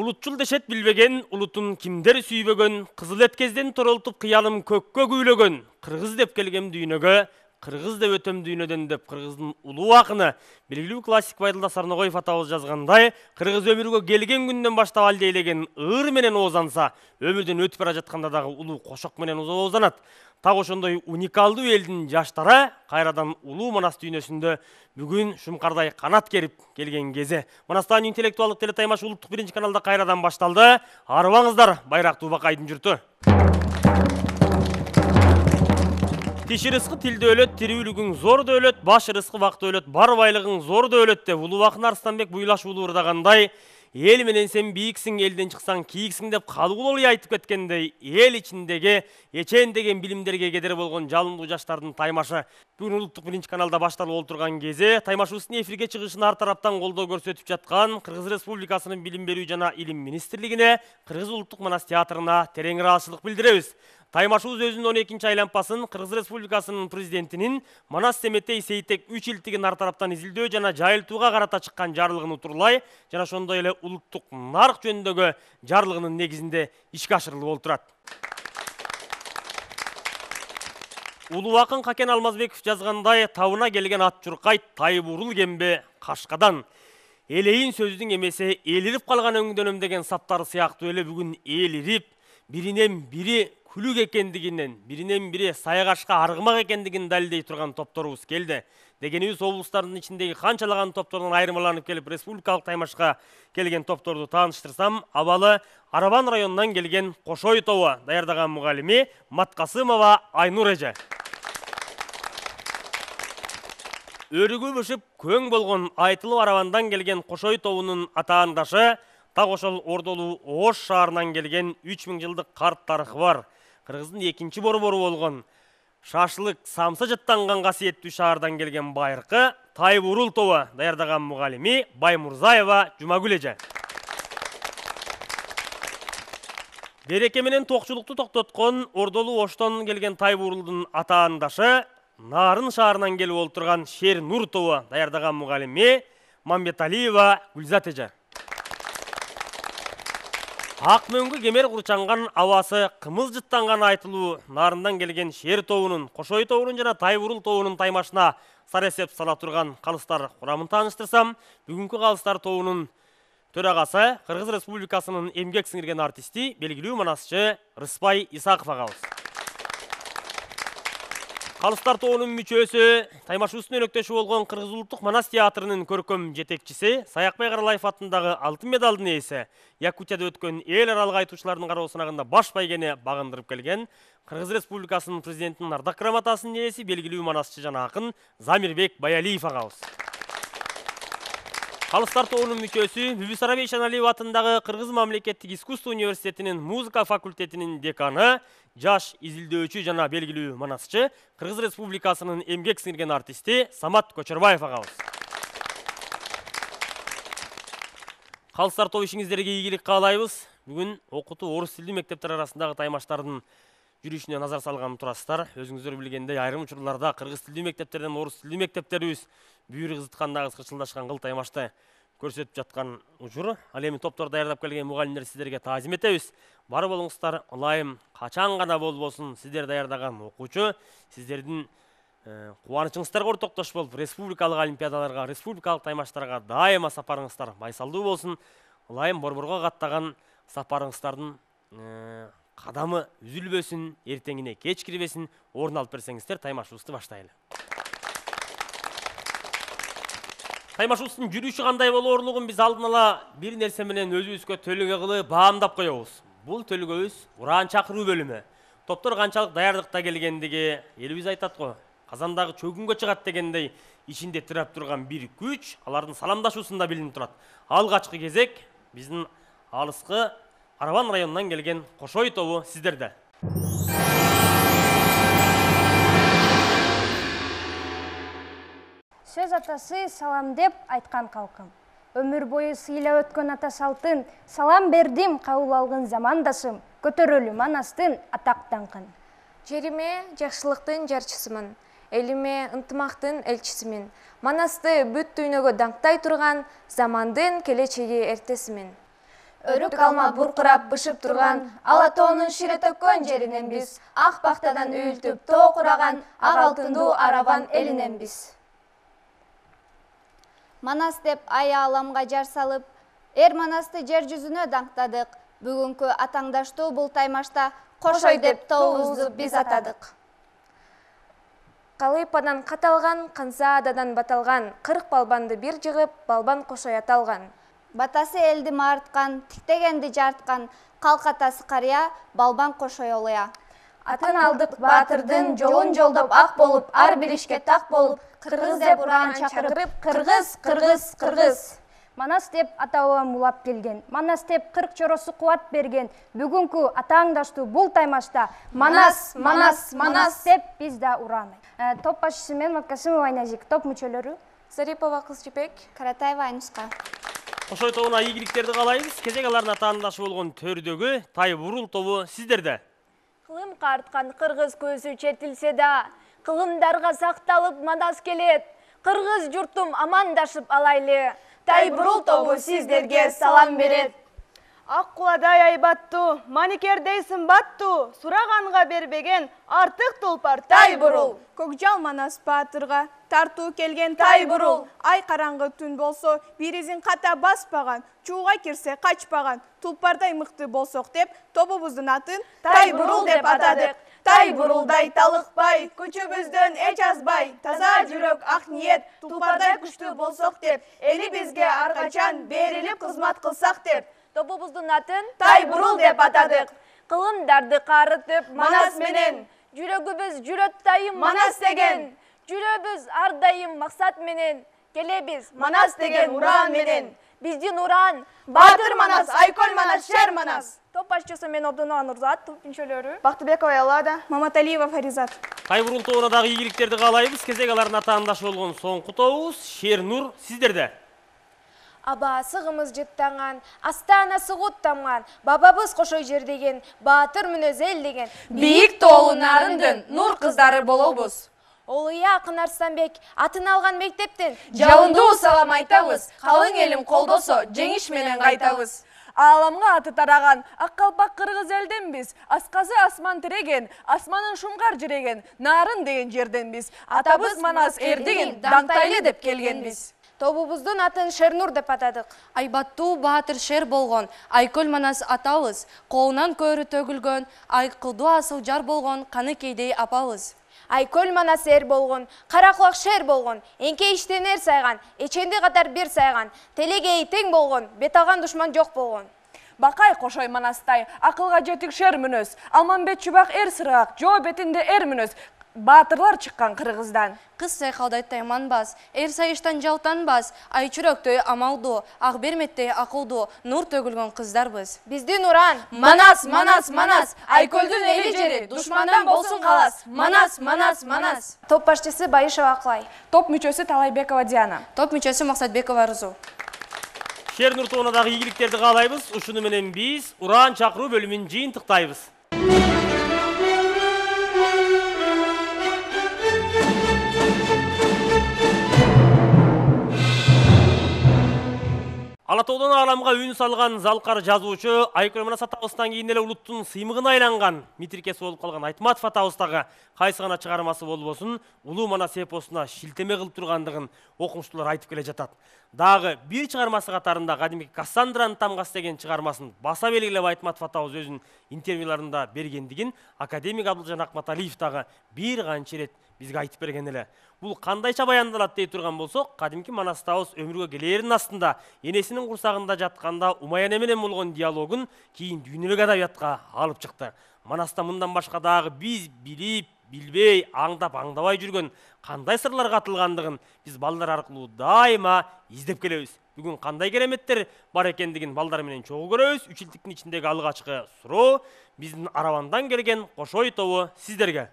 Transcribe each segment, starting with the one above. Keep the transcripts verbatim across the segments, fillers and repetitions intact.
Улутчул дешет билбеген, улутун кимдер сүйбөгөн, кызыл эткезден торолтуп кыялым көккө күйлөгөн, кыргыз деп келгем дүйнөгө, кыргыз деп өтөм дүйнөдөн деп кыргыздын улуу акыны, белгилүү классик Байдылда Сарногоев атабыз жазгандай, кыргыз өмүргө келген күндөн баштап алдейлеген ыр менен оозанса, өмүрдөн өтүп бара жатканда дагы улуу кошок менен оозанат. Так ошондой уникалдуу элдин жаштары кайрадан улуу Манас дүйнөсүндө бүгүн шумкардай канат керип келген кези. Манастан интеллектуалдык телетаймаш улуттук биринчи каналда кайрадан башталды. Арыбаңыздар, байрактуу Бакайдын журту. Тиши рызкы тилде өлөт, тирүүлүгүң зор дөөлөт, баш рызкы вакыт өлөт, бар байлыгың зор дөөлөт деп улуу акын Арыстанбек Буйлашуулу ырдагандай, эл менен сен бийиксиң, элден чыксаң кийиксиң деп калгулуу айтып кеткендей, эл ичиндеги эчен деген билимдерге кедер болгон жалындуу жаштардын таймашы бүгүн улуттук биринчи каналда башталып отурган кези, таймашыбыздын эфирге чыгышын ар тараптан колдоо көрсөтүп жаткан Кыргыз Республикасынын Билим берүү жана Илим министрлигине, Кыргыз улуттук Манас театрына терең ыраазычылык билдиребиз. Таймашыбыз өзүнүн он экинчи айлампасын Кыргыз Республикасынын президентинин Манас Семетей Сейтек үч илтигин ар тараптан изилдөө жана жайылтууга карата чыккан жарлыгын утурлай жана ошондой эле улуттук нарк жөнүндөгү жарлыгынын негизинде ишке ашырылып отурат. Улуу акын Какен Алмазбеков жазгандай, табына келген ат журкайт, тайбурул кембе кашкадан. Элейин сөздүн эмеси элирип калган өңдөнөм деген саптары сыяктуу эле бүгүн элирип, биринен бири күлүк экендигинен, биринен бири саягашка аргымак экендигин далилдей турган топторубуз келди. Дегенибиз облустардын ичиндеги канчалаган топтордон айырмаланып келип республикалык таймашка келген топторду тааныштырсам, абалы Арабан районунан келген Кошой тобу даярдаган мугалими Маткасымова Айнур эже. Өрүгү бышып көң болгон айтылып Арабандан келген Кошой тобунун атаандашы так ошол Ордолуу Ош шаарынан келген үч миң жылдык карт тарыхы бар. Кыргыздын экинчи борбору болгон Шашлык самса жаттанган касиеттүү шаардан келген байыркы Тайбурул тобу даярдаган мугалими Баймурзаева Жумагүл эже. Береке менен токчулукту токтоткон Ордолуу Оштон келген Тайбурулдун атаандашы Нарын шаарынан келип олтурган Шер Нур тобу даярдаган мугалими Мамбеталиева Гүлзат эже. Ак мөңгү кемер курчанган абасы кымыз жыттанган айтылуу Нарындан келген Шер тобунун, Кошой тобунун жана Тайбурул тобунун таймашына саресеп сала турган калыстар курамын тааныштырсам, бүгүнкү калыстар тобунун төрагасы Кыргыз Республикасынын эмгек сиңирген артисти, белгилүү манасчы Рыспай Исаков агабыз. Калыстар тобунун мүчөсү, таймашыбыздын өнөктөшү болгон Кыргыз улуттук Манас театрынын көркөм жетекчиси, Саякбай Каралаев атындагы алтын медалдын ээси, Якутияда өткөн эл аралык айтуучулардын кароо сынагында баш байгени багындырып келген Кыргыз Республикасынын президентинин ардак грамотасынын ээси, белгилүү манасчы жана акын Замирбек Баялиев агабыз. Калыстар тобунун мүчөсү, Бүбүс Арабей Шаналиев атындагы Кыргыз мамлекеттик искусство университетинин музыка факультетинин деканы, жаш изилдөөчү жана белгилүү манасчы, Кыргыз Республикасынын эмгек сиңирген артисти Самат Көчөрбаев агабыз. Калыстар тобу ишиңиздерге ийгилик каалайбыз. Бүгүн окутуу орус тилдүү мектептер арасындагы таймаштардын жүрүшүнө назар салган турасыздар. Өзүңүздөр билгендей, айрым учурларда кыргыз тилдүү мектептерден орус тилдүү мектептерибиз бүйүр кызыткандагы кырчылдашкан кыл таймашты көрсөтүп жаткан учур. Ал эми топтор даярдап келген мугалимдер сиздерге таазим этебиз. Бар болуңуздар, ылайым качан гана болбосун сиздер даярдаган окуучу сиздердин кубанычыңыздарга ортоктош болуп, республикалык олимпиадаларга, республикалык таймаштарга дайыма сапарыңыздар майсалдуу болсун. Ылайым борборго каттаган сапарыңыздардын кадамы үзүлбөсүн, эртеңине кеч кирбесин, орун алып берсеңиздер, таймашыбызды баштайлы. Таймашыбыздын жүрүшү кандай болоорлугун биз алдын ала бир нерсе менен өзүбүзгө төлөгө кылып баамдап коебуз. Бул төлөгөбүз ураан чакыруу бөлүмү. Топтор канчалык даярдыкта келгендиги элибиз айтат го. Казандагы чөгүнгө чыгат дегендей, ичинде тирап турган бир күч алардын саламдашуусунда билинип турат. Алгачкы кезек биздин алыскы Арабан районунан келген Кошой тобу сиздерде. Сөз атасы салам деп айткан калкым. Өмүр бою сыйлап өткөн ата салтын, салам бердим кабыл алган замандашым, көтөрөлү Манастын атак даңкын. Жериме жакшылыктын жарчысымын, элиме ынтымактын элчисимин. Манасты бүт дүйнөгө даңктай турган замандын келечеги эртесимин. Өрүк алма буркурап бышып турган, ала тоонун шире төккөн жеринен биз, ак бактадан үйүлтүп тоо кураган, ак алтындуу арабан элинен биз. Манас деп ай ааламга жар салып, эр Манасты жер жүзүнө даңктадык. Бүгүнкү атаңдаштуу бул таймашта Кошой деп тообузду биз атадык. Калыйпадан каталган, Кансаададан баталган, кырк балбанды бир жыгып, балбан Кошой аталган. Батасы элди маарткан, тиктегенди жарткан, калк атасы карыя, балбан Кошой олуя. Атын алдык баатырдын, жолун жолдоп ак болуп, ар бир ишке так болуп, кыргыз деп ураан чакырып, кыргыз, кыргыз, кыргыз. Манас деп ата-бабам улап келген. Манас деп кырк чоросу кубат берген. Бүгүнкү атаңдаштуу бул таймашта Манас, Манас, Манас деп биз да ураанайт. Топ башчысы мен Маткасымова Айназик, топ мүчөлөрү Зарипова Кызжибек, Каратаева Айнуска. Кошой тобуна ийгиликтерди каалайбыз. Кезек алардын атаандашы болгон төрдөгү Тай бурул тобу сиздерде. Кылым карткан кыргыз көзү четилсе да, кылымдарга сакталып Манас келет. Кыргыз журтум амандашып алайлы. Тай бурул тобу сиздерге салам берет. Ак куладай айбаттуу, маникердей сымбаттуу, сураганга бербеген артык тулпар тай бурул. Көкжал Манас баатырга тартуу келген тай бурул. Ай караңгы түн болсо, биризин ката баспаган, чууга кирсе качпаган, тулпардай мыкты болсок деп, тобубуздун атын тай бурул деп атадык. Тай бурулдай талыкпай, күчүбүздөн эч азбай, таза жүрөк ак ниет, тулпардай күчтүү болсок деп, эли бизге ар качан берилип кызмат кылсак деп, Тобубуздун атын тай бурул деп атадык. Кылымдарды карытып Манас менен, жүрөгүбүз жүрөт дайым Манас деген, жүрөбүз ар дайым максат менен, келебиз Манас деген ураан менен. Биздин ураан Баатыр Манас, Айкөл Манас, Шер Манас. Топ башчысы мен Обдунова Нурзат, топ мүчөлөрү Бактыбекова Ялада, Маматалиева Фаризат. Тай бурул тобуна дагы ийгиликтерди каалайбыз. Кезек алардын атаандашы болгон соңку тобубуз Шер Нур сиздерде. Абасы кымыз жыттанган, астанасы куттамган, бабабыз Кошой жердеген, баатыр мүнөз эл деген. Бийик тоолу нарындын нур кыздары болобуз. Олуя Акын Арстанбек атын алган мектептен Жалындуу салам айтабыз, калың элим колдосо, жеңиш менен кайтабыз. Ааламга аты тараган, ак калпак кыргыз элден биз, асказы асман тиреген, асманын шуңгар жиреген, нарын деген жерден биз. Атабыз Манас эрдигин даңтайлы деп келген биз. Тобубуздун атын Шернур деп атадык. Айбаттуу баатыр шер болгон, Айкөл Манас атабыз, колунан көөрү төгүлгөн, айкылдуу асыл жар болгон Каныкейдей апабыз. Айкөл Манас эр болгон, кара кулак шер болгон, эңке иштен эр сайган, эченди катар бир сайган, телегеи тең болгон, бет алган душман жок болгон. Бакай Кошой Манастай, акылга жетик шер мүнөз, Алманбет Чубак эр сыргак, жоо бетинде эр мүнөз. Баатырлар чыккан кыргыздан. Кыз сайкалдай тайманбас, эр сайыштан жалтанбас, ай чүрөктөй амалдуу, ак берметтей акылдуу, нур төгүлгөн кыздарбыз. Биздин уран Манас, Манас, Манас, Айкөлдүн эли жери, душмандан болсун калас. Манас, Манас, Манас. Топ башчысы Байышева Аклай. Топ мүчөсү Талайбекова Диана. Топ мүчөсү Максатбекова Арзу. Шер Нур тобуна дагы ийгиликтерди каалайбыз. Ушуну менен биз ураан чакыруу бөлүмүн жыйынтыктайбыз. Алатоодон ааламга үн салган залкар жазуучу Айкөл Манас атабыздан кийин эле улуттун сыймыгына айланган митрикеси болуп калган Айтматов атабыздагы кайсы гана чыгармасы болбосун Улуу Манас эпосуна шилтеме кылып тургандыгын окумуштуулар айтып келе жатат. Дагы бир чыгармасы катарында кадимки Кассандранын тамгасы деген чыгармасын баса белгилеп Айтматов атабыз өзүнүн интервьюларында бергендигин академик Абдылжан Акматалиев дагы бир канча ирет бизге айтып берген эле. Бул кандайча баяндалат дей турган болсок, кадимки Манас атабыз өмүргө келээринин астында энесинин курсагында жатканда Умаяне менен болгон диалогун кийин дүйнөлүк адабиятка алып чыкты. Манаста мындан башка дагы биз билип, билбей, аңдап, аңдабай жүргөн кандай сырлар катылгандыгын биз балдар аркылуу дайыма издеп келебиз. Бүгүн кандай кереметтер бар экендигин балдар менен чогуу көрөбүз. Үч илдиктин ичиндеги алгачкы суроо биздин Аравандан келген Кошой тобу сиздерге.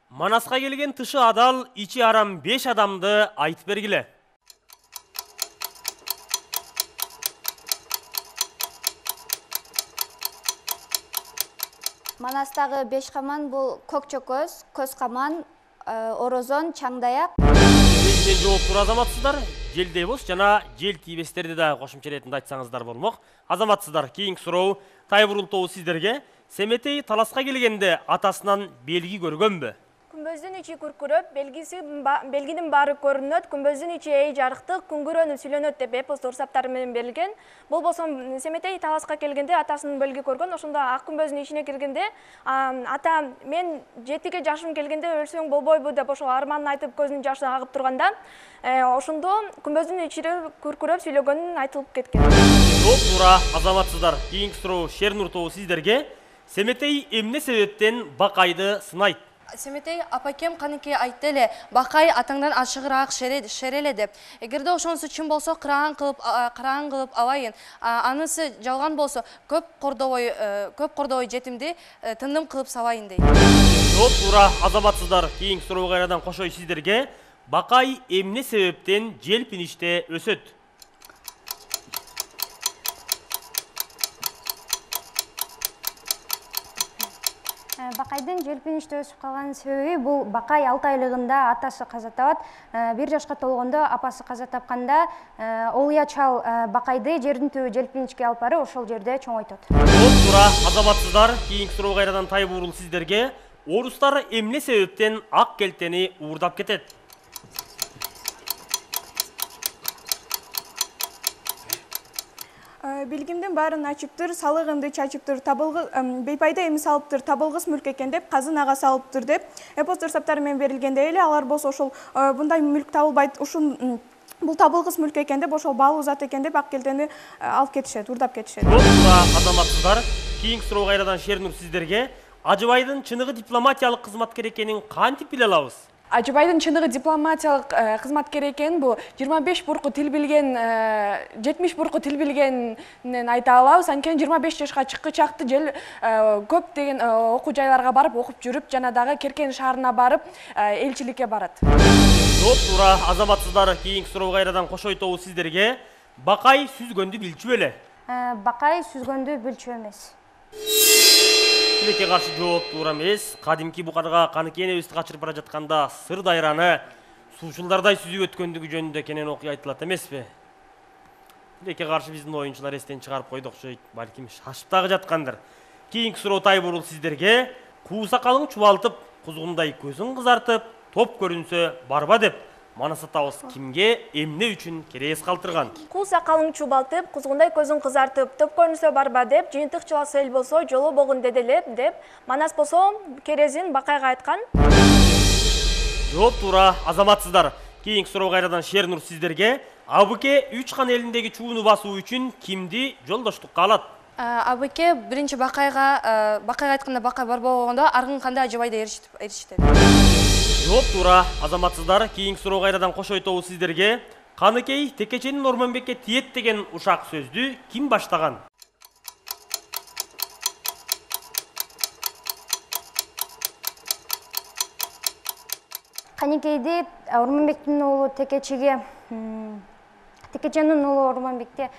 Манаска келген тышы адал, ичи арам беш адамды айтып бергиле. Манастагы беш каман бул көк чөкөз, көз каман, орозон, чаңдаяк. Эмнеден жооптур азаматсыздар? Желдей болуш жана жел тийбестерди да кошумча иретинде айтсаңыздар болмок. Азаматсыздар, кийинки суроо Тайбурул тобу сиздерге. Семетей таласка келгенде атасынан белги көргөнбү? Күмбөздүн ичи күркүрөп, белгиси белгинин баары көрүнөт, күмбөздүн ичи эй жарыктык, күңгүрөнүп сүйлөнөт деп эпостор саптары менен берилген. Бул болсо Семетей таласка келгенде атасынын белги көргөн. Ошондо ак күмбөздүн ичине киргенде ата мен жетиге жашым келгенде өлсөң болбойбу деп ошол арманын айтып көзүнүн жашы агып турганда, ошондо күмбөздүн ичи күркүрөп сүйлөгөнүн айтылып кеткен. Жооп туура, азаматсыздар. Кийинки суроо Шернур тобу сиздерге. Семетей эмне себептен Бакайды сынайт? Семетей апакем канекей айтты эле, Бакай атаңдан ачыгыраак шереле деп. Эгерде ошонусу чын болсо, кыраган кылып, караган кылып алайын. Анысы жалган болсо, көп кордобой, көп кордобой жетимди тындым кылып салайын дейт. Жооп туура, азаматсыздар. Кийинки суроо кайрадан кошой сиздерге. Бакай эмне себептен желпиниште өсөт? Бакайдын желпиниште өсүп калган себеби бул Бакай алты айлыгында атасы каза табат. бир жашка толгондо апасы каза тапканда Олуя чал Бакайды жердин түбү желпинишке алып барып, ошол жерде чоңойтот. Жооп туура, азаматсыздар. Кийинки суроо кайрадан Тайбурул сиздерге. Орустар эмне себептен ак келтени уурдап кетет? Билгимдин баарын ачыптыр, салыгымды чачыптыр, табылгы бейпайда эми салыптыр, табылгыс мүлк экен деп, казын ага салыптыр деп, эпостор саптары менен берилгенде эле алар болсо ошол мындай мүлк табылбайт, ушун бул табылгыс мүлк экен деп, ошол баалуу зат экен деп ак келтени алып кетишет, урдап кетишет. Жооп туура, азаматсыздар. Кийинки суроо кайрадан Шернур сиздерге. Ажыбайдын чыныгы дипломатиялык кызматкер экенин кантип биле алабыз? Ажыбайдын чыныгы дипломатиялык кызматкер экен, бул жыйырма беш бурку тил билген, жетимиш бурку тил билгенин айта алабыз. Анткени жыйырма беш жашка чыккычакты жел көп деген окуу жайларга барып окуп жүрүп, жана дагы Керкен шаарына барып элчиликке барат. Жооп туура, азаматсыздар. Кийинки суроо кайрадан кошой тобу сиздерге. Бакай сүзгөндү билчү беле? Бакай сүзгөндү билчү эмес. Тилекке каршы жооп туура эмес. Кадимки букарга Каныкей энебизди качырып бара жатканда Сыр дайраны суучулдардай сүзүп өткөндүгү жөнүндө кенен окуя айтылат эмеспи? Тилекке каршы биздин оюнчулар эстен чыгарып койду окшойт, балким шашып дагы жаткандыр. Кийинки суроо Тайбурул сиздерге. Куу сакалың чубалтып, кузгундай көзүң кызартып, топ көрүнсө барба деп манас атабыз кимге, эмне үчүн керес калтырган? Кул сакалың чубалтып, кузгундай көзүң кызартып, топ көрүнсө барба деп, жыйынтык чыласы эл болсо жолу богун деделеп деп, манас болсо керезин Бакайга айткан. Жооп туура, азаматсыздар. Кийинки суроо кайрадан Шернур сиздерге. Абыке үч кан элиндеги чууну басуу үчүн кимди жолдоштукка алат? Абыке биринчи Бакайга, Бакайга айтканда Бакай бар болгондо аргын канда Ажыбайда эришет. Жооп туура, азаматсыздар. Кийинки суроо кайрадан кошой тобу сиздерге. Каныкей Текеченин Ормонбекке тиет деген ушак сөздү ким баштаган? Каныкейди Ормонбектин уулу Текечеге, Текеченин уулу Ормонбекте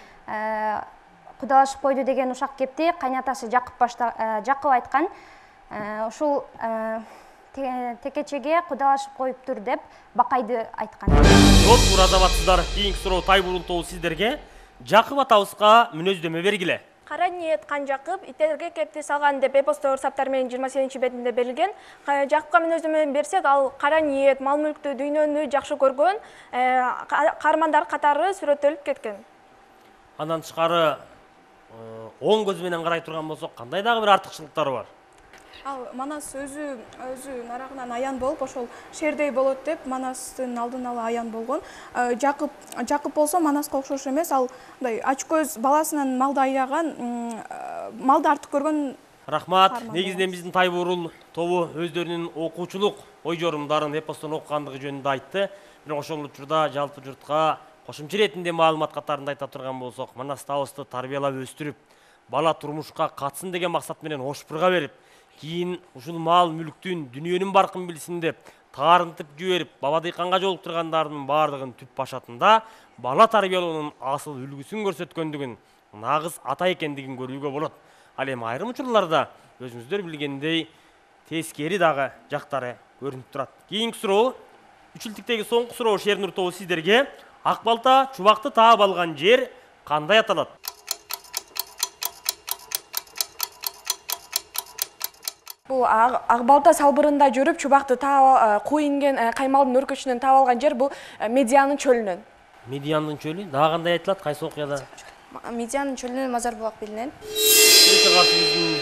кудалашып койду деген ушак кепти, кайнатасы Жакып башта Жакып айткан. Ушул Текечеге кудалашып коюптур деп Бакайды айткан. Жооп туура, азаматсыздар. Кийинки суроо Тайбурул тобу сиздерге. Жакып атабызга мүнөздөмө бергиле. Кара ниет Кан Жакып иттерге кепти салган деп эпостор саптары менен жыйырма сегизинчи бетинде берилген. Жакыпка мүнөздөмө берсек, ал кара ниет, мал мүлктү, дүйнөнү жакшы көргөн каармандар катары сүрөттөлүп кеткен. Андан тышкары оң көз менен карай турган болсок, кандай дагы бир артыкчылыктары бар? Ал Манас өзү өзү нарагынан аян болуп, ошол шердей болот деп Манастын алдын ала аян болгон. Жакып Жакып болсо Манаска окшош эмес, ал мындай ач көз баласынан малды аяган, малды артык көргөн. Рахмат. Негизинен биздин Тайбурул тобу өздөрүнүн окуучулук ой жорумдарын эпостон окугандыгы жөнүндө айтты. Бирок ошол учурда жалпы журтка кошумча иретинде маалымат катарында айта турган болсок, Манас табызды тарбиялап өстүрүп, бала турмушка катсын деген максат менен ошпурга берип, кийин ушул мал мүлктүн, дүнүйөнүн баркын билсин деп таарынтып жиберип, баба дыйканга жолуктургандардын баардыгын түп башатында бала тарбиялоонун асыл үлгүсүн көрсөткөндүгүн, нагыз ата экендигин көрүүгө болот. Ал эми айрым учурларда өзүңүздөр билгендей тескери дагы жактары көрүнүп турат. Кийинки суроо Үчүлтүктеги соңку суроо Шернур тобу сиздерге. Ак балта чубакты таап алган жер кандай аталат? Бул ак балта салбырында жүрүп чубакты таап куу инген каймалдын өркөчүнөн таап алган жер бул Медианын чөлүнөн. Медианын чөлү дагы кандай айтылат? Кайсы окуяда? Медианын чөлүнөн Мазар булак билинет. Биринчи каршы биздин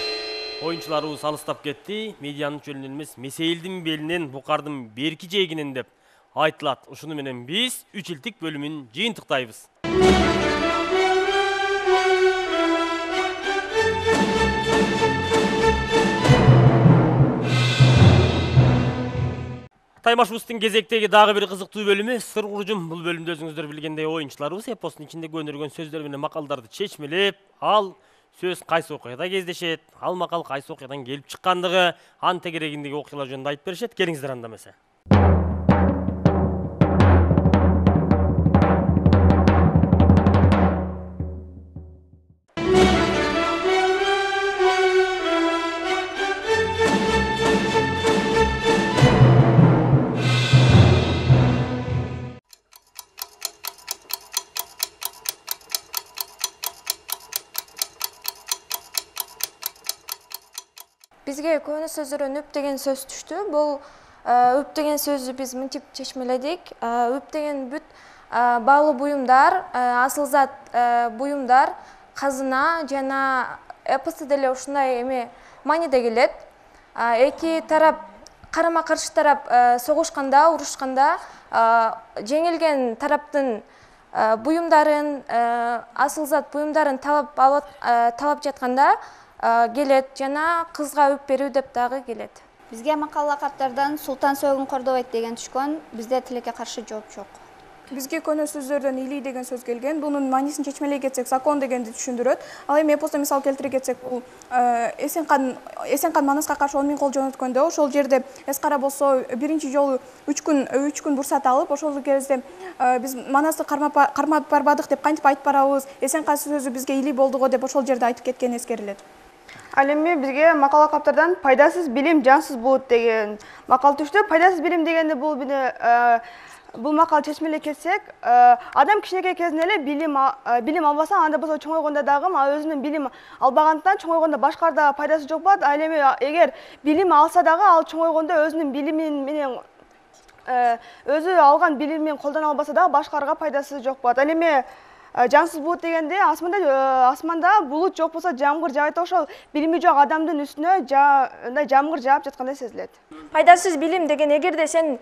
оюнчуларыбыз алыстап кетти. Медианын чөлүнөн эмес, Месейлдин белинен, букардын берки жээгинен деп айтылат. Ушуну менен биз үч илтик бөлүмүн жыйынтыктайбыз. Таймашыбыздын кезектеги дагы бир кызыктуу бөлүмү сыр куржум. Бул бөлүмдө өзүңүздөр билгендей оюнчуларыбыз эпостун ичинде көнүргөн сөздөр менен макалдарды чечмелеп, ал сөз кайсы окуяда кездешет, ал макал кайсы окуядан келип чыккандыгы, ан тегерегиндеги окуялар жөнүндө айтып беришет. Келиңиздер анда эмесе. Бизге көңүл сөздөрдөн үп деген сөз түштү. Бул үп деген сөздү биз мынтип чечмеледик. Үп деген бүт баалуу буюмдар, асыл зат буюмдар, казына жана эпосто деле ушундай эме мааниде келет. Эки тарап, карама каршы тарап согушканда, урушканда жеңилген тараптын буюмдарын, асыл зат буюмдарын талап талап жатканда келет жана кызга үп берүү деп дагы келет. Бизге макал лакаптардан Султан Сойгун Кордобайт деген түшкөн, бизде тилекке каршы жооп жок. Бизге көне сөздөрдөн илий деген сөз келген. Бунун маанисин чечмелей кетсек, закон дегенди түшүндүрөт. Ал эми эпосто мисал келтире кетсек, бул Эсенкан Эсенкан Манаска каршы он миң кол жөнөткөндө, ошол жерде Эскара болсо биринчи жолу үч күн үч күн бурсат алып, ошол кезде биз Манасты кармап барбадык деп кантип айтып барабыз, Эсенкан сөзү бизге илий болдуго деп ошол жерде айтып кеткен эскерилет. Ал эми бизге макал лакаптардан пайдасыз билим жансыз болот деген макал түштү. Пайдасыз билим дегенде бул бул макал чечмелей кетсек, адам кичинекей кезинен эле билим билим албаса, анда болсо чоңойгондо дагы өзүнүн билим албагандыктан чоңойгондо башкаларда пайдасы жок болот. Ал эми эгер билим алса дагы ал чоңойгондо өзүнүн билими менен өзү алган билимин колдоно албаса дагы башкаларга пайдасы жок болот. Ал эми жансыз булут дегенде асманда асманда булут жок болсо жамгыр жаайт, ошол билими жок адамдын үстүнө мындай жамгыр жаап жаткандай сезилет. Пайдасыз билим деген эгерде сен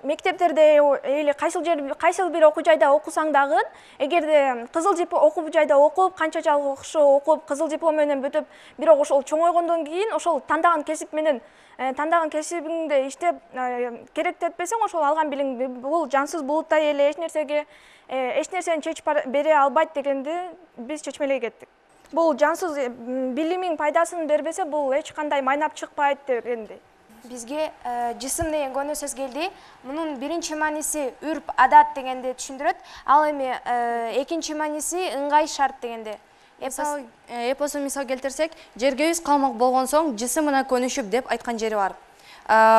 мектептерде или кайсыл жер кайсыл бир окуу жайда окусаң дагы, эгерде кызыл диплом окуу жайда окуп, канча жакшы окуп, кызыл диплом менен бүтүп, бирок ошол чоңойгондон кийин ошол тандаган кесип менен тандаган кесибиңде иштеп керектетпесең, ошол алган билим бул жансыз булуттай эле эч нерсеге эч нерсени чечип бере албайт дегенди биз чечмелей кеттик. Бул жансыз билимиң пайдасын бербесе, бул эч кандай майнап чыкпайт дегенди. Бизге жисим деген көңүл сөз келди. Мунун биринчи мааниси үрп, адат дегенди түшүндүрөт. Ал эми экинчи мааниси ыңгай шарт дегенди. Эпосу мисал келтирсек, жергебиз калмак болгон соң жисимине көнүшүп деп айткан жери бар.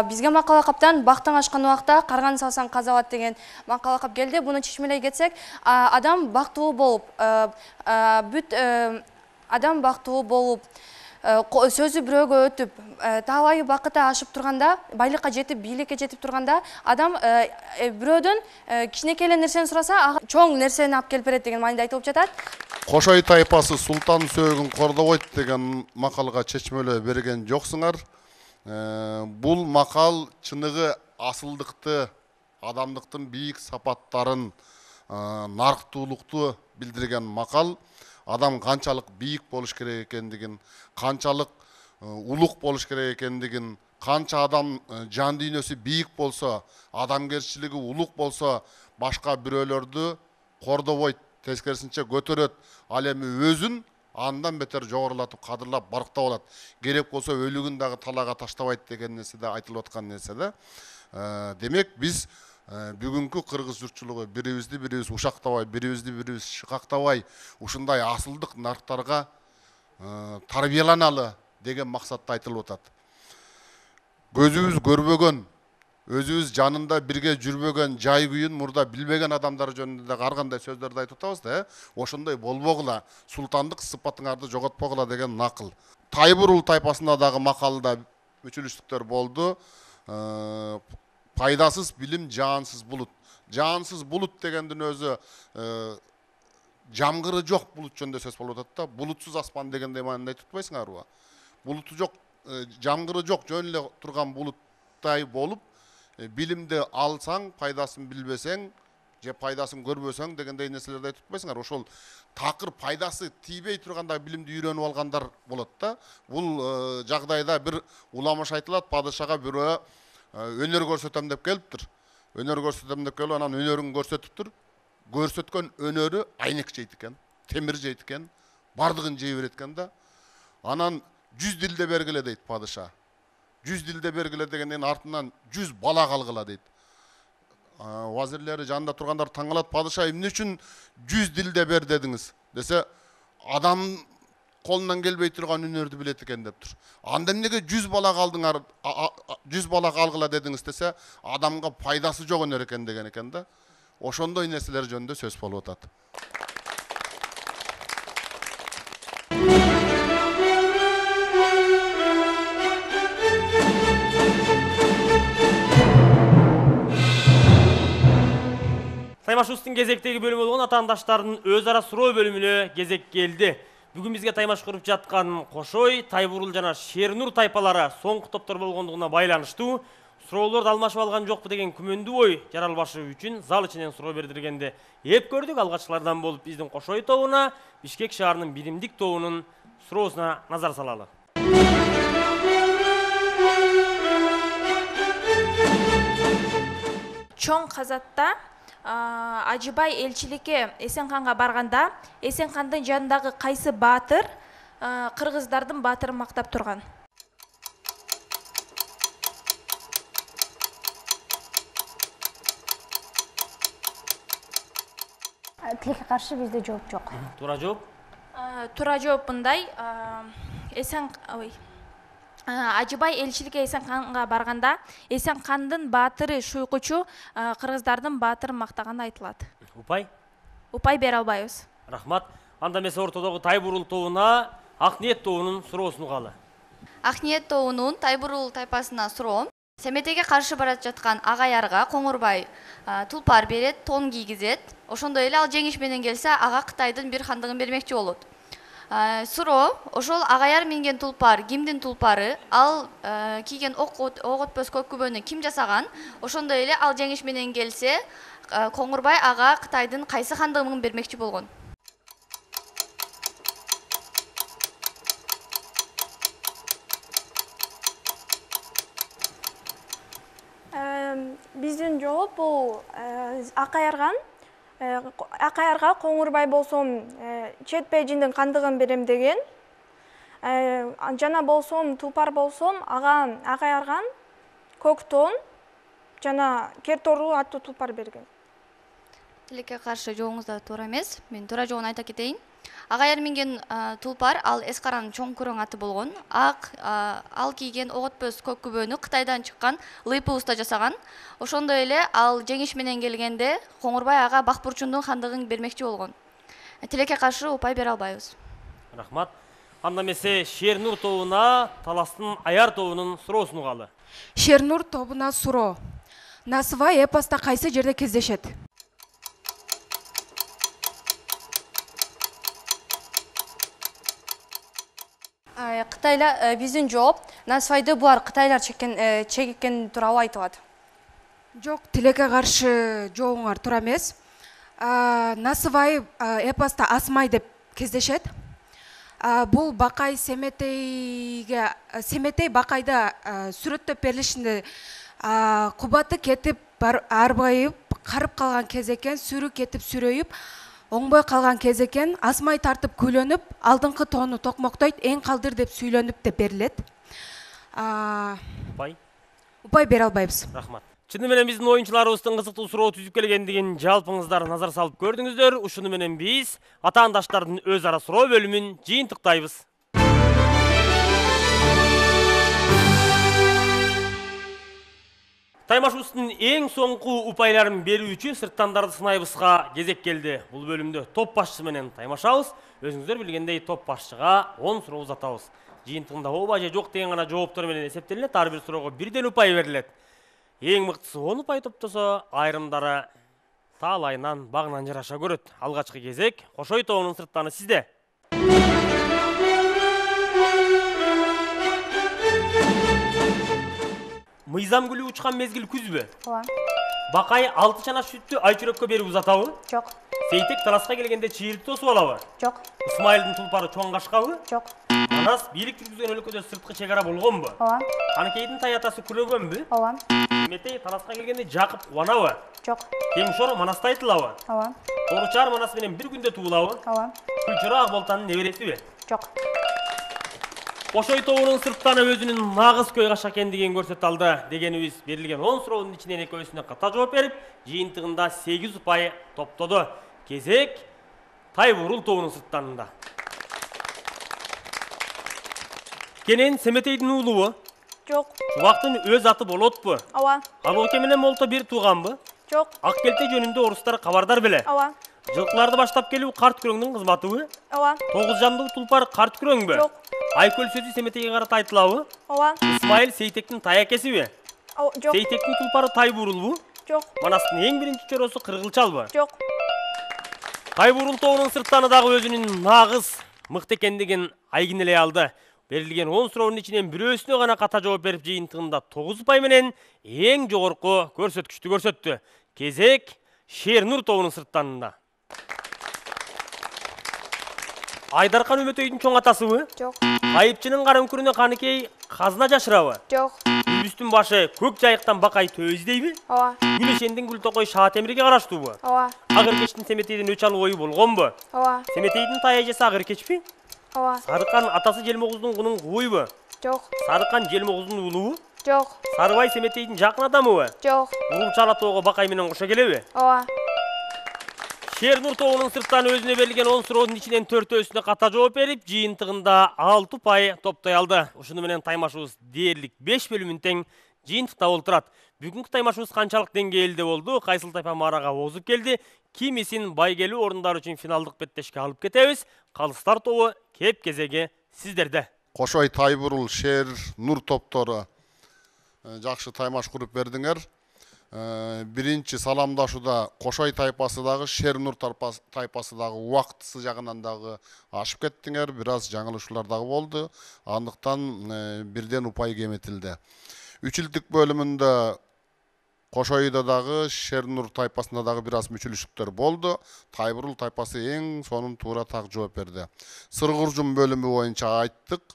Бизге макал лакаптан бактың ашкан убакта карган салсаң казабат деген макал лакап келди. Буну чечмелей кетсек, адам бактылуу болуп, бүт адам бактылуу болуп, сөзү бирөөгө өтүп, талайы бакыты ашып турганда, байлыкка жетип, бийликке жетип турганда, адам бирөөдөн кичинекей эле нерсени сураса, ага чоң нерсени алып келип берет деген мааниде айтылып жатат. Кошой тайпасы Султан Сойгун Кордобайт деген макалга чечмелөө берген жоксуңар. Бул макал чыныгы асылдыкты, адамдыктын бийик сапаттарын, нарктуулукту билдирген макал. Адам канчалык бийик болуш керек экендигин, канчалык улук болуш керек экендигин, канча адам жан дүйнөсү бийик болсо, адамгерчилиги улук болсо, башка бирөөлөрдү кордобойт, тескерисинче көтөрөт. Ал эми өзүн андан бетер жогорулатып, кадырлап, барктап алат. Керек болсо өлүгүн дагы талаага таштабайт деген нерсе да айтылып аткан нерсе да. Демек биз бүгүнкү кыргыз журтчулугу бирибизди бирибиз ушактабай, бирибизди бирибиз шыкактабай, ушундай асылдык нарктарга тарбияланалы деген максатта айтылып атат. Көзүбүз көрбөгөн, өзүбүз жанында бирге жүрбөгөн, жай күйүн мурда билбеген адамдар жөнүндө да ар кандай сөздөрдү айтып атабыз да, ошондой болбогула, султандык сыпатыңарды жоготпогула деген накыл. Тайбурул тайпасында дагы макалда мүчүлүштүктөр болду. Пайдасыз билим жаансыз булут. Жаансыз булут дегендин өзү жамгыры жок булут жөнүндө сөз болуп атат да. Булутсуз аспан дегендей маанында айтып атпайсыңарбы? Булуту жок, жамгыры жок, жөн эле турган булуттай болуп, билимди алсаң, пайдасын билбесең, же пайдасын көрбөсөң дегендей нерселерди айтып атпайсыңар? Ошол такыр пайдасы тийбей турганда билимди үйрөнүп алгандар болот да. Бул жагдайда бир уламыш айтылат, падышага бирөө өнөр көрсөтөм деп келиптир. Өнөр көрсөтөм деп келип, анан өнөрүн көрсөтүптүр. Көрсөткөн өнөрү айнек жейт экен, темир жейт экен, бардыгын жей берет экен да. Анан жүз дилде бергиле дейт падыша. Жүз дилде бергиле дегенден артынан жүз бала калгыла дейт. Вазирлери жанында тургандар таң калат, падыша эмне үчүн жүз дилде бер дедиңиз десе, адам колунан келбей турган өнөрдү билет экен деп тур. Анда эмнеге жүз бала калдыңар, жүз бала калгыла дедиңиз десе, адамга пайдасы жок өнөр экен деген экен да. Ошондой нерселер жөнүндө сөз болуп атат. Таймашыбыздын кезектеги бөлүмү болгон атаандаштардын өз ара суроо бөлүмүнө кезек келди. Бүгүн бизге таймаш куруп жаткан Кошой, Тайбурул жана Шернур тайпалары соңку топтор болгондугуна байланыштуу суроолорду алмашып алган жокпу деген күмөндүү ой жаралбашы үчүн зал ичинен суроо бердиргенде эп көрдүк. Алгачкылардан болуп биздин Кошой тобуна, Бишкек шаарынын Биримдик тобунун суроосуна назар салалы. Чоң казатта Ажыбай элчиликке Эсенканга барганда, Эсенкандын жанындагы кайсы баатыр кыргыздардын баатырын мактап турган? Тилекке каршы бизде жооп жок. Туура жооп? Туура жооп мындай. Эсен ой Ажыбай элчиликке Эсенканга барганда, Эсенкандын баатыры Шуйкучу кыргыздардын баатырын мактаганы айтылат. Упай? Упай бере албайбыз. Рахмат. Анда эмесе ортодогу Тайбурул тобуна Акниет тобунун суроосун угалы. Акниет тобунун Тайбурул тайпасына суроо. Семетеге каршы барат жаткан Агаярга Коңурбай тулпар берет, тон кийгизет. Ошондой эле ал жеңиш менен келсе, ага Кытайдын бир хандыгын бермекчи болот. Суроо, ошол Агаяр минген тулпар кимдин тулпары, ал кийген ок өтпөс көк күбөнү ким жасаган? Ошондой эле ал жеңиш менен келсе, Коңурбай ага Кытайдын кайсы хандыгын бермекчи болгон? Биздин жооп бул Акаярган. Акаярга Коңурбай болсом чет бейжиндин кандыгын берем деген. Жана болсом тулпар болсом ага Акаярган көк тон жана кер тору аттуу тулпар берген. Тилекке каршы жоогуңуз да туура эмес. Мен туура жоогун айта кетейин. Агаяр минген тулпар ал Эскаранын чоң күрөң аты болгон. Ак ал кийген ок өтпөс көк күбөнү Кытайдан чыккан Лыйпы уста жасаган. Ошондой эле ал жеңиш менен келгенде Коңурбай ага Бакбурчундун хандыгын бермекчи болгон. Тилекке каршы упай бере албайбыз. Рахмат. Анда эмесе Шернур тобуна Таластын Аяр тобунун суроосун угалы. Шернур тобуна суроо. Насыбай эпоста кайсы жерде кездешет? Кытайлар биздин жооп Насыбайды булар кытайлар чеккен чеккен тууралуу айтылат. Жок, тилекке каршы жоогуңар туура эмес. Насыбай эпоста Асмай деп кездешет. Бул Бакай Семетейге Семетей Бакайда сүрөттөп берилишинде кубаты кетип арбайып карып калган кез экен, сүрү кетип сүрөйүп оңбой калган кез экен. Асмай тартып күлөнүп, алдыңкы тоону токмоктойт, эң калдыр деп сүйлөнүп деп берилет. Упай? Упай бере албайбыз. Рахмат. Чыны менен биздин оюнчуларыбыздын кызыктуу суроо түзүп келгендигин жалпыңыздар назар салып көрдүңүздөр. Ушуну менен биз атаандаштардын өз ара суроо бөлүмүн жыйынтыктайбыз. Таймашыбыздын эң соңку упайларын берүүчү сырттандарды сынайбызга кезек келди. Бул бөлүмдө топ башчысы менен таймашабыз. Өзүңүздөр билгендей топ башчыга он суроо узатабыз. Жыйынтыгында ооба же жок деген гана жооптор менен эсептелинет. Ар бир суроого бирден упай берилет. Эң мыктысы он упай топтосо, айрымдары таалайынан багынан жараша көрөт. Алгачкы кезек Кошой тобунун сырттаны сизде. Мыйзам гүлү учкан мезгил күзбү? Ооба. Бакай алты чана сүттү Айчүрөккө берип узатабы? Жок. Сейтек таласка келгенде чыйырып тосуп алабы? Жок. Исмайылдын тулпары чоң кашкабы? Жок. Манас бийлик жүргүзгөн өлкөдө сырткы чек ара болгонбу? Ооба. Каныкейдин тай атасы күлөгөнбү? Ооба. Метей таласка келгенде Жакып кубанабы? Жок. Кемшор Манасты айтылабы? Ооба. Торучар Манас менен бир күндө туулабы? Ооба. Күлчөрө Акболтанын небересиби? Жок. Кошой тобунун сырттаны өзүнүн нагыз көй каша экендигин көрсөтө алды. Дегенибиз берилген он суроонун ичинен экөөсүнө ката жооп берип, жыйынтыгында сегиз упай топтоду. Кезек Тайбурул тобунун сырттанында. Кенен Семетейдин уулубу? Жок. Чубактын өз аты болотпу? Ооба. Албоке менен Молто бир тууганбы? Жок. Ак келте жөнүндө орустар кабардар беле? Ооба. Жылкыларды баштап келүү карт күрөңдүн кызматыбы? Ооба. Тогуз жандуу тулпар карт күрөңбү? Жок. Айкөл сөзү Семетейге карата айтылабы? Ооба. Исмайыл Сейтектин тай акесиби? Жок. Сейтектин тулпары Тайбурулбу? Жок. Манастын эң биринчи чоросу Кыргылчалбы? Жок. Тайбурул тобунун сырттаны дагы өзүнүн нагыз мыкты экендигин айгинелей алды. Берилген он суроонун ичинен бирөөсүнө гана ката жооп берип, жыйынтыгында тогуз упай менен эң жогорку көрсөткүчтү көрсөттү. Кезек Шернур тобунун сырттанында. Айдаркан Үмөтөйдүн чоң атасыбы? Жок. Айыпчынын кара үңкүрүнө Каныкей казына жашырабы? Жок. Үбүстүн башы көк жайыктан Бакай төбө издейби? Ооба. Гүлешендин Гүлтокой Шаатемирге караштуубу? Ооба. Агыркечтин Семетейдин өч алуу ою болгонбу? Ооба. Семетейдин тай эжеси Агыркечпи? Ооба. Сарыкан атасы Желмогуздун кунун кууйбу? Жок. Сарыкан Желмогуздун уулубу? Жок. Сарыбай Семетейдин жакын адамыбы? Жок. Урулчала тоого Бакай менен кошо келеби? Ооба. Шернур тобунун сырттан өзүнө берилген он суроонун ичинен төртөөсүнө ката жооп берип, жыйынтыгында алты упай топтой алды. Ушуну менен таймашыбыз дээрлик беш бөлүмүн тең жыйынтыкта олтурат. Бүгүнкү таймашыбыз канчалык деңгээлде болду? Кайсыл тайпа маарага озуп келди? Кимисин байгелүү орундар үчүн финалдык беттешке алып кетебиз. Калыстар тобу кеп кезеги сиздерде. Кошой Тайбурул Шер Нур топтору жакшы таймаш куруп бердиңер. Биринчи саламдашууда Кошой тайпасы дагы Шер Нур тайпасы дагы убактысы жагынан дагы ашып кеттиңер. Бир аз жаңылышуулар дагы болду. Андыктан бирден упай кеметилди. Үч илдик бөлүмүндө Кошойдо дагы Шер Нур тайпасында дагы бир аз мүчүлүштүктөр болду. Тайбурул тайпасы эң сонун туура так жооп берди. Сыргыржум бөлүмү боюнча айттык.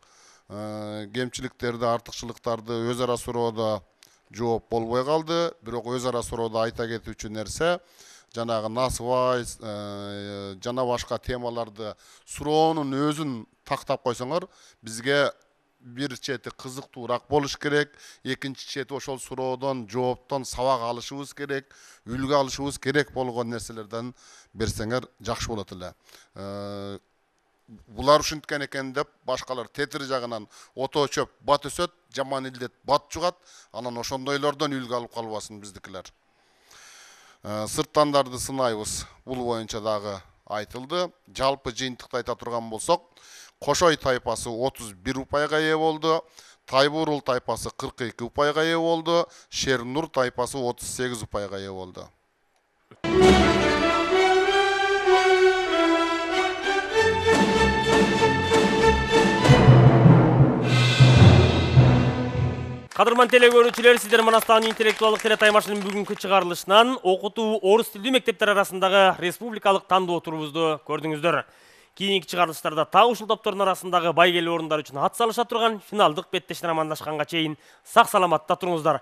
Кемчиликтерди, артыкчылыктарды өз ара суроодо жооп болбой калды. Бирок өз ара суроодо айта кетүүчү нерсе жанагы насыбай жана башка темаларды суроонун өзүн тактап койсоңор, бизге бир чети кызыктуураак болуш керек, экинчи чети ошол суроодон, жооптон сабак алышыбыз керек, үлгү алышыбыз керек болгон нерселерден берсеңер жакшы болот эле. Булар ушинткен экен деп башкалар тетир жагынан ото чөп бат өсөт, жаман илдет бат жугат, анан ошондойлордон үлгү алып калбасын биздикилер. Сырттандарды сынайбыз. Бул боюнча дагы айтылды. Жалпы жыйынтыкты айта турган болсок, Кошой тайпасы отуз бир упайга ээ болду, Тайбурул тайпасы кырк эки упайга ээ болду, Шер Нур тайпасы отуз сегиз упайга ээ болду. Кадырман теле көрүүчүлөр, сиздер Манастагы интеллектуалдык теле таймашынын бүгүнкү чыгарылышынан окутуу орус тилдүү мектептер арасындагы республикалык тандоо турубузду көрдүңүздөр. Кийинки чыгарылыштарда так ушул топтордун арасындагы байгелүү орундар үчүн ат салыша турган финалдык беттештен амандашканга чейин сак саламатта туруңуздар.